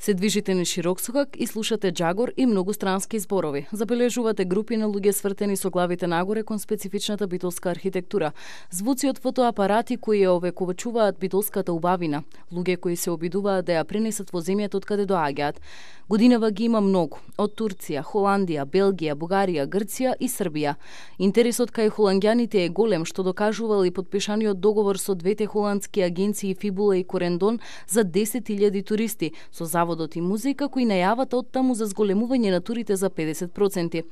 Се движите низ Широксокак и слушате џагор и многострански зборови. Забележувате групи на луѓе свртени со главите нагоре кон специфичната битолска архитектура. Звуци од фотоапарати кои ја овековечуваат битолската убавина. Луѓе кои се обидуваат да ја пренесат во земјата од каде доаѓаат. Годинава ги има многу. Од Турција, Холандија, Белгија, Бугарија, Грција и Србија. Интересот кај холанѓаните е голем, што докажувал и подпишаниот договор со двете холандски агенции Фибула и Корендон за 10.000 туристи, со Заводот и музика кои најават оттаму за зголемување на турите за 50%.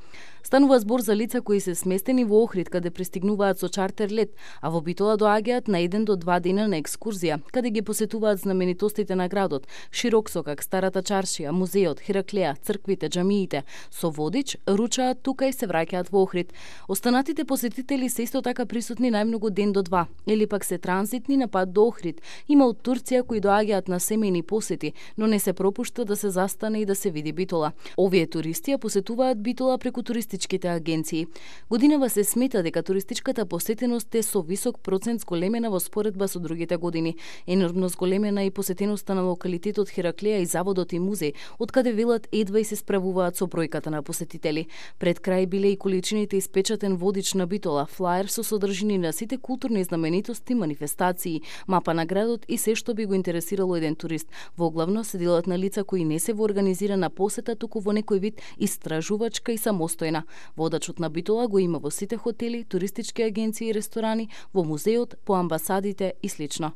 Станува збор за лица кои се сместени во Охрид, каде пристигнуваат со чартер лет, а во Битола доаѓаат на 1 до 2 дена на екскурзија, каде ги посетуваат знаменитостите на градот, Широксокак, Старата чаршија, музеот, Хераклеа, црквите, џамиите. Со водич ручаат тука и се враќаат во Охрид. Останатите посетители се исто така присутни најмногу ден до 2, или пак се транзитни на пат до Охрид. Има од Турција кои доаѓаат на семејни посети, но не се пропушта да се застане и да се види Битола. Овие туристи ја посетуваат Битола преку туристичките агенции. Годинава се смета дека туристичката посетеност е со висок процент зголемена во споредба со другите години. Енормно зголемена и посетеноста на локалитетот Хераклеа и Заводот и музеј, од каде велат едва и се справуваат со бројката на посетители. Пред крај биле и количините испечатен водич на Битола, флаер со содржини на сите културни знаменитости, манифестации, мапа на градот и се што би го интересирало еден турист. Воглавно се делат на лица кои не се во организирана посета, туку во некој вид истражувачка и самостојна. Водачот на Битола го има во сите хотели, туристички агенции и ресторани, во музеот, по амбасадите и слично.